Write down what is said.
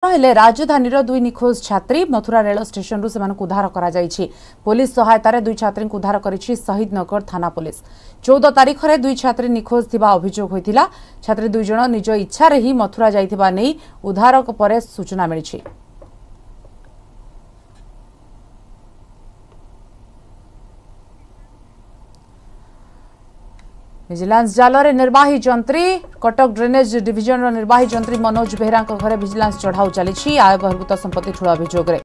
ହେଲେ ରାଜଧାନୀର ଦୁଇ ନିଖୋଜ ଛାତ୍ରୀ। ମଥୁରା ରେଳ ଷ୍ଟେସନରୁ ସେମାନଙ୍କୁ ଉଦ୍ଧାର କରାଯାଇଛି। ପୋଲିସ ସହାୟତାରେ ଦୁଇ ଛାତ୍ରୀଙ୍କୁ ଉଦ୍ଧାର କରିଛି ଶହୀଦନଗର ଥାନା ପୋଲିସ। 14 ତାରିଖରେ ଦୁଇ ଛାତ୍ରୀ ନିଖୋଜ ଥିବା ଅଭିଯୋଗ ହୋଇଥିଲା। ଛାତ୍ରୀ ଦୁଇ ଜଣ ନିଜ ଇଚ୍ଛାରେ ହିଁ ମଥୁରା ଯାଇଥିବା ନେଇ ଉଦ୍ଧାର ପରେ ସୂଚନା ମିଳିଛି। ଭିଜିଲାନ୍ସ ଜାଲରେ ନିର୍ବାହୀ ଯନ୍ତ୍ରୀ। କଟକ ଡ୍ରେନେଜ୍ ଡିଭିଜନର ନିର୍ବାହୀ ଯନ୍ତ୍ରୀ ମନୋଜ ବେହେରାଙ୍କ ଘରେ ଭିଜିଲାନ୍ସ ଚଢ଼ାଉ ଚାଲିଛି ଆୟ ବହିର୍ଭୂତ ସମ୍ପତ୍ତି ଠୁଳ ଅଭିଯୋଗରେ।